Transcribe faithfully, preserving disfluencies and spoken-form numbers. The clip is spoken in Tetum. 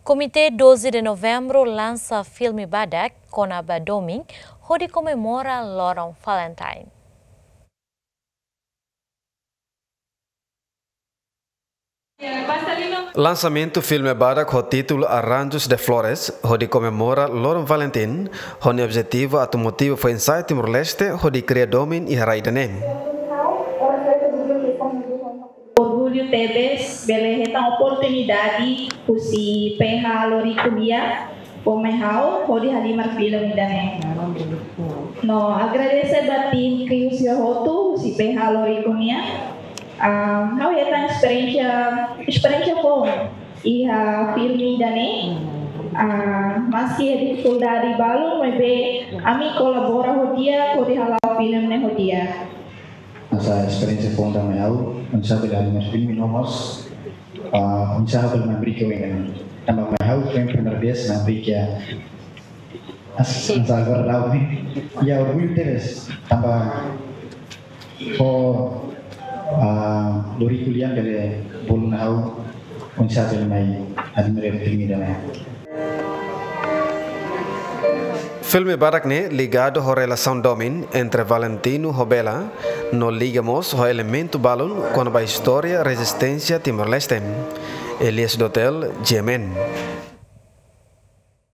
Komité doze de Novembru lansa filme badak kona-ba domin hodi komemora loron Valentine. Lansamentu filme badak ho títulu Arranjos de Flores hodi komemora loron Valentin, ho nia objetivu atu motiva foin-sa'e Timor-Leste hodi kria domin iha rai ida-ne'e. Orgullu tebes bele hetan oportunidade husi PH Loriku nian fó mai ha'u hodi halimar filme ida-ne'e. No agradese ba tim kriu sira hotu husi PH Loriku nian. Ah, ha'u hetan esperiénsia, esperiénsia boa iha filme ida-ne'e. Ah, maski iha difikuldade balun, maibé ami kolabora ho di'ak hodi hala'o filme ne'e ho di'ak. Hanesan esperiénsia boa ida mai ha'u, oinsá bele halimar filme no mós, ah, oinsá bele mai brinka ho ida-ne'e. Tanba mai ha'u foin primeira vez mai brinka. As, hanesan agora ha'u, ne'e. Ya, orgullu tebes. Tanba ho, ah, Loriku nian bele bolu ha'u oinsá bele mai halimar filme ida-ne'e. Filme badak ne'e ligadu ho relasaun domin entre Valentino ho Bela, no liga mós ho elementu balun kona-ba istória rezisténsia Timor-Leste. Elias Dotel, G M N.